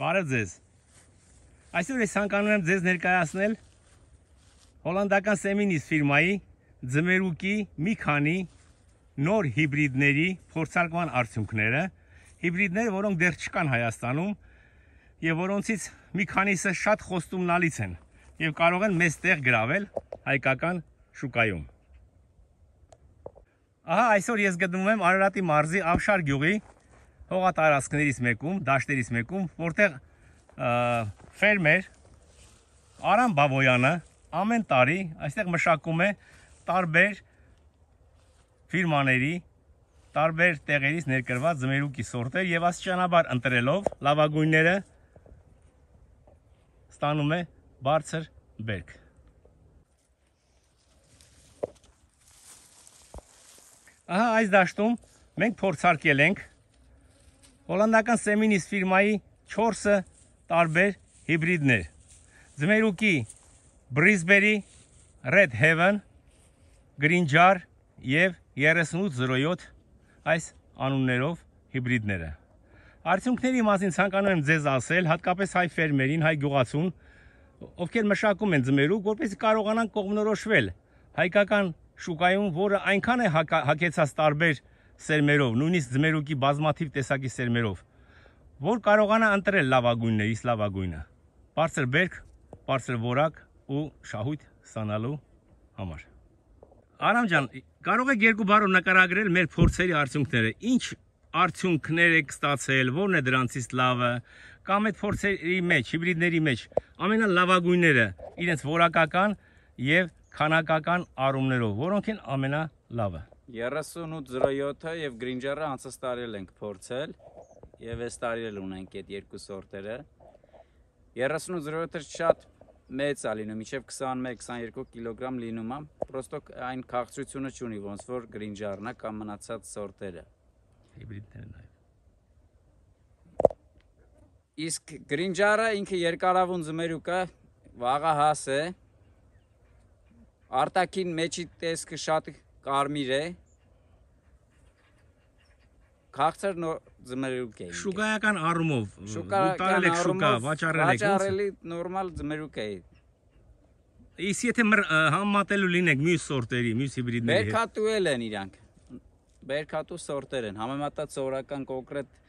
Բարև ձեզ։ Այսօր ես ցանկանում եմ ձեզ ներկայացնել հոլանդական Seminis ֆիրմայի ձմերուկի մի քանի նոր հիբրիդների փորձարկման արդյունքները, հիբրիդներ, որոնք դեռ չկան Հայաստանում եւ որոնցից մի քանիսը շատ խոստումնալից են եւ կարող են մեծ տեղ գրավել հայկական շուկայում։ Ահա այսօր ես գտնվում եմ Արարատի մարզի Ավշար գյուղի հողատարածքներից մեկում, դաշտերից մեկում, որտեղ ֆերմեր Արամ Բաբոյանը ամեն տարի այստեղ մշակում է տարբեր ֆիրմաների, տարբեր տեղերից ներկրված ձմերուկի սորտեր եւ աստիճանաբար ընտրելով լավագույնները ստանում է բարձր բերք։ Ահա այս դաշտում մենք փորձարկել ենք հոլանդական Seminis ֆիրմայի 4 տարբեր հիբրիդներ։ Ձմերուկի Brisberry, Red Heaven, Green Jar եւ 3807 այս անուններով հիբրիդները։ Արդյունքների մասին ցանկանում եմ ձեզ ասել, հատկապես հայ ֆերմերին, հայ գյուղացուն, ովքեր մշակում են ձմերուկ, որպեսզի կարողանան կողմնորոշվել հայկական շուկայում, որը այնքան է հագեցած տարբեր սերմերով, նույնիսկ ձմերուկի բազմաթիվ տեսակի սերմերով, որ կարողանա ընտրել լավագույններից լավագույնը, բարձր բերք, բարձր որակ ու շահույթ ստանալու համար։ Արամ ջան, կարող եք երկու բառով նկարագրել մեր փորձերի արդյունքները, ինչ արդյունքներ եք ստացել, որն է դրանցից լավը, կամ այդ փորձերի մեջ, հիբրիդների մեջ ամենալավագույնները իրենց որակական եւ քանակական առումներով, որոնք են ամենալավը։ 3807-ը եւ Green Jar-ը անցած տարի ենք փորձել եւ այս տարի էլ ունենք այդ երկու սորտերը։ 3807-ը շատ մեծ է լինում, մինչեւ 21-22 կիլոգրամ լինում է, պրոստո այն քաղցրությունը չունի, ոնց որ Green Jar-ն է կամ մնացած սորտերը։ Հիբրիդներն այլ։ Իսկ Green Jar-ը ինքը երկարավուն ձմերուկ է, վաղահաս է։ Արտաքին մեջի տեսքը շատ կարմիր է։ Քաղցր ձմերուկ է։ Շուկայական առումով, տարել եք շուկա, վաճառելի նորմալ ձմերուկ է։ Իսկ եթե համատելու լինեք մյուս սորտերի, մյուս հիբրիդների հետ։ Բերքատու էլ են իրանք։ Բերքատու սորտեր են, համեմատած սովորական կոնկրետ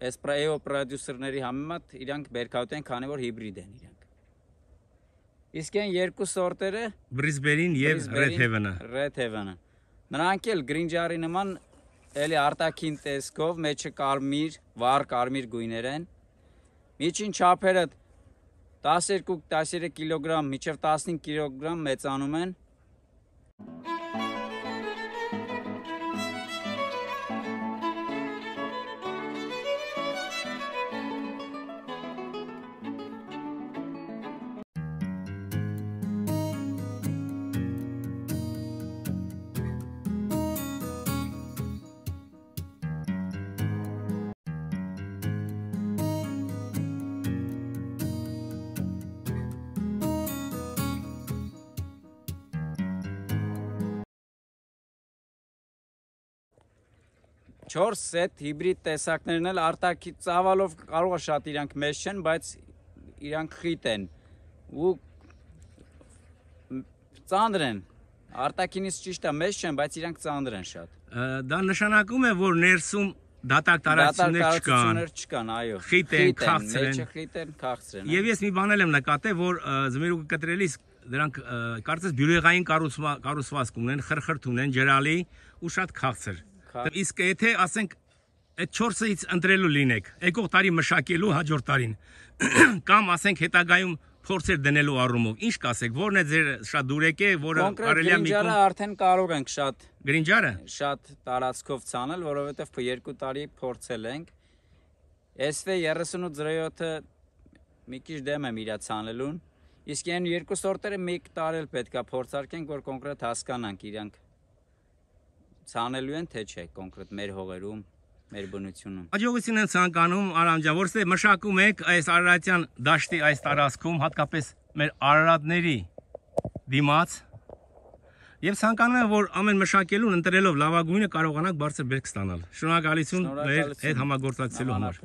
Espresso պրոդյուսերների համեմատ իրանք բերքատու են, քանի որ հիբրիդ են իրանք։ Իսկ այն երկու սորտերը Brisberry-ն եւ Red Heaven-ը։ Red Heaven-ը։ Նրանք էլ Green Jar-ի նման էլի արտաքին տեսքով, մեջը կարմիր, վառ կարմիր գույներ են։ Միջին չափերը 12-13 կիլոգրամ, մինչև 15 կիլոգրամ մեծանում են։ Չորս սեթ հիբրիդ տեսակներն էլ արտակի ծավալով կարող է շատ իրանք մեծ չեն, բայց իրանք խիտ են ու ծանր են։ Արտակինից ճիշտ է մեծ չեն, բայց իրանք ծանր են շատ։ Դա նշանակում է, որ ներսում դատարկ տարածություններ չկան, այո։ Խիտ են, քաղցր են։ Խիտ են, քաղցր են։ Եվ ես մի բան եմ նկատել, որ ձմերուկը կտրելիս դրանք կարծես բյուրեղային կառուցվածք ունեն, խրխրթ ունեն, ջրալի ու շատ քաղցր։ Իսկ եթե ասենք այդ 4-ից ընտրելու լինեք, եկող տարի մշակելու հաջորդ տարին, կամ ասենք հետագայում փորձեր դնելու առումով, ինչ կասեք, որն է ձեր շատ դուրեկե, որը կարելի է մի կողմ արդեն կարող ենք շատ Green Jar-ը շատ տարածքով ցանել, որովհետև 2 տարի փորձել ենք։ SV3807-ը մի քիչ դեմ եմ իրա ցանելուն, իսկ այն երկու սորտերը մեկ տարի էլ պետքա փորձարկենք, որ կոնկրետ հասկանանք իրանք ցանելու են թե չէ կոնկրետ մեր հողերում, մեր բնությունում։ Աջողություն եմ ցանկանում Արամ ջան, որովհետեւ մշակում եք այս Արարատյան դաշտի այս տարածքում, հատկապես մեր արարատների դիմաց, եւ ցանկանում եմ, որ ամեն մշակելուն ընտրելով լավագույնը կարողանաք բարձր բերք ստանալ։ Շնորհակալություն մեր հետ համագործակցելու համար։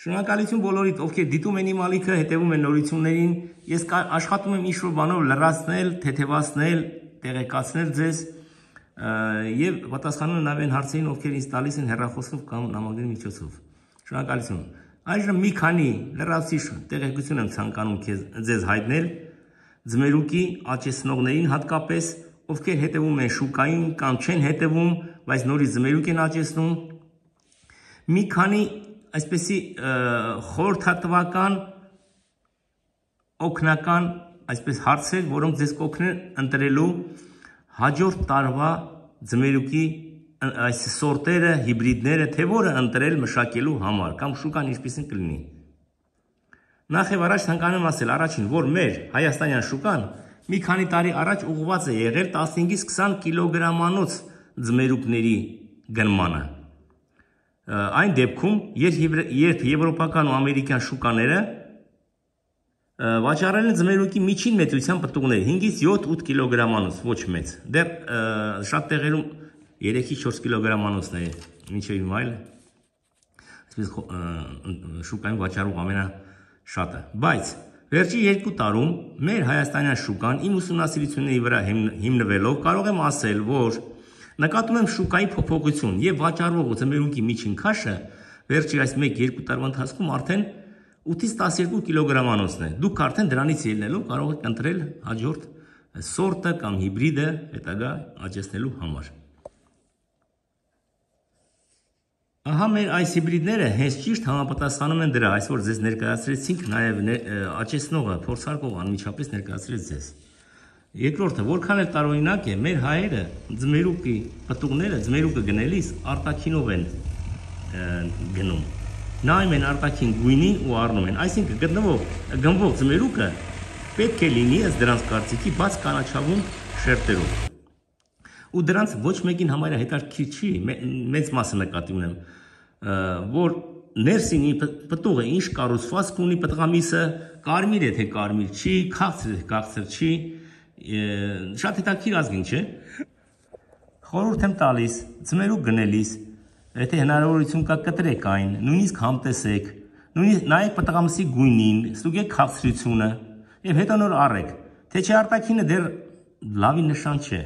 Շնորհակալություն բոլորիդ, ովքեր դիտում են իմ ալիքը, հետևում են նորություններին։ Ես աշխատում եմ ինչ-որ բանով լրացնել, թեթևացնել, տեղեկացնել ձեզ եւ պատասխանում եմ նաեւ այն հարցերին, ովքեր ինձ տալիս են հեռախոսով կամ նամակների միջոցով։ Շնորհակալություն։ Այժմ մի քանի լրացուցիչ տեղեկություն եմ ցանկանում ձեզ հայտնել ձմերուկի աճեցնողներին հատկապես, ովքեր հետևում են շուկային կամ չեն հետևում, բայց նորից ձմերուկ են աճեցնում։ Մի քանի այսպեսի խորհրդատվական օգնական այսպես հարցեր, որոնք ձեզ կօգնեն ընտրելու հաջորդ տարվա ձմերուկի այս սորտերը, հիբրիդները, թե որը ընտրել մշակելու համար կամ շուկան ինչպեսին կլինի։ Նախ եւ առաջ ցանկանում եմ ասել առաջին, որ մեր հայաստանյան շուկան մի քանի տարի առաջ ուղղված է եղել 15-ից 20 կիլոգրամանոց ձմերուկների գնմանը։ Այն դեպքում, երբ եվրոպական ու ամերիկյան շուկաները վաճառել են ձմերուկի միջին մեծության պտուղներ 5-ից 7-8 կիլոգրամանոց, ոչ մեծ։ Դեռ շատ տեղերում 3-ից 4 կիլոգրամանոցն է, մինչև հիմա այլ այսպես շուկային վաճառող ամենաշատը։ Բայց վերջի 2 տարում մեր հայաստանյան շուկան իմ ուսումնասիրությունների վրա հիմնվելով կարող եմ ասել, որ նկատում եմ շուկայի փոփոխություն եւ վաճառվող ձմերուկի միջին քաշը վերջի այս 1-2 տարվա ընթացքում արդեն 8-ից 12 կիլոգրամանոցն է։ Դուք արդեն դրանից ելնելով կարող եք ընտրել հաջորդ սորտը կամ հիբրիդը հետագա աճեցնելու համար։ Ահա մեր այս հիբրիդները հենց ճիշտ համապատասխանում են դրա, այսօր ձեզ ներկայացրեցինք, նաև աճեցնողը, փորձարկողը անմիջապես ներկայացրեց ձեզ։ Երկրորդը, որքան էլ տարօրինակ է, մեր հայերը ձմերուկի պտուղները, ձմերուկը գնելիս արտաքինով են գնում։ Նայում են արտաքին գույնին ու առնում են, այսինքն գնվող ձմերուկը պետք է լինի ըստ դրանց կարծիքի բաց կանաչավուն շերտերով։ Ու դրանց ոչ մեկին համարյա հետաքրքիր չի, մեծ մասը նկատի ունեմ, որ ներսին պտուղը ինչ կառուցվածք ունի պտղամիսը, կարմիր է թե կարմիր չի, քաղցր է թե քաղցր չի, շատ հետաքրքիր ազգին չէ։ Խորհուրդ եմ տալիս, ձմերուկ գնելիս, եթե հնարավորություն կա կտրեք այն, նույնիսկ համտեսեք, նույնիսկ նայեք պտղամիսի գույնին, ստուգեք քաղցրությունը եւ հետո նոր առեք, թե չէ արտաքինը դեռ լավի նշան չէ։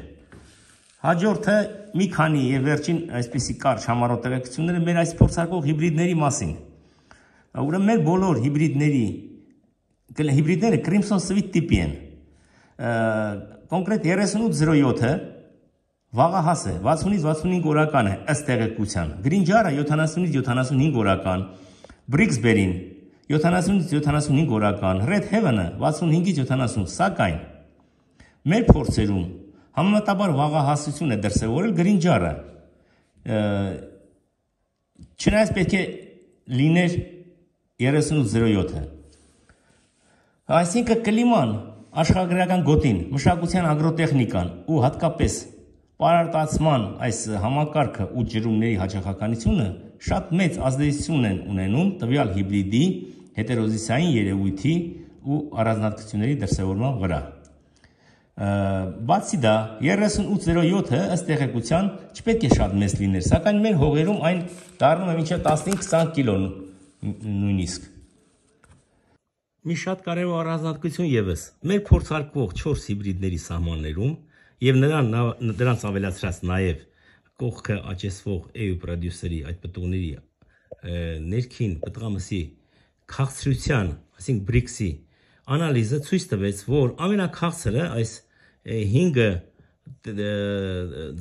Հաջորդը մի քանի եւ վերջին այսպիսի կարճ համառոտ տեղեկությունները մեր այս փորձարկող հիբրիդների մասին։ Ուրեմն մեր բոլոր հիբրիդները Crimson Sweet տիպի են։ Կոնկրետ 3807-ը վաղահաս է, 60-ից 65 օրական է ըստ տեղեկության։ Green-Jar-ը 70-ից 75 օրական, Brixberry-ն 70-ից 75 օրական, Red Heaven-ը 65-ից 70, սակայն մեր փորձերում համեմատաբար վաղահասություն է դրսևորել Green-Jar-ը։ Չնայած պետք է լիներ 3807-ը։ Այսինքն կլիման, աշխարհագրական գոտին, մշակության ագրոտեխնիկան ու հատկապես պարարտացման այս համակարգը ու ջրումների հաճախականությունը շատ մեծ ազդեցություն են ունենում տվյալ հիբրիդի հետերոզիսային երևույթի ու առանձնահատկությունների դրսևորման վրա։ Բացի դա 3807-ը ըստ տեղեկության չպետք է շատ մեծ լիներ, սակայն մեր հողերում այն դառնում է մինչև 15-20 կիլո նույնիսկ։ Մի շատ կարևոր առանձնահատկություն եւս մեր փորձարկվող 4 հիբրիդների սահմաններում եւ նրանց ավելացրած նաեւ կողքը աճեցվող EU պրոդյուսերի այդ պտուղների ներքին պտղամսի քաղցրության, այսինքն Brix-ի անալիզը ցույց տվեց, որ ամենակաղցրը այս 5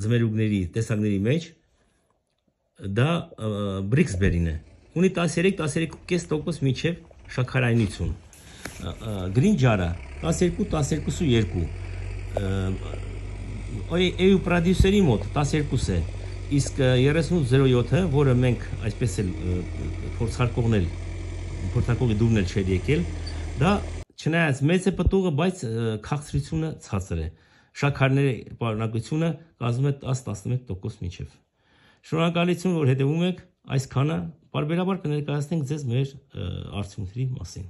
ձմերուկների տեսակների մեջ դա Brixberry-ն է։ Ունի 13-13.5% մինչև շաքարայնություն։ Green-Jar-ը 12-12.2 EU պրոդյուսերի մոտ 12 է, իսկ 3807-ը, որը մենք այսպես էլ փորձարկողի դուրն էլ չէր եկել, դա չնայած մեծ է պտուղը, բայց քաղցրությունը ցածր է։ Շաքարների պարունակությունը կազմում է 10-11% մինչև։ Շնորհակալություն, որ հետևում եք, այսքանը պարբերաբար կներկայացնենք ձեզ մեր արդյունքների մասին։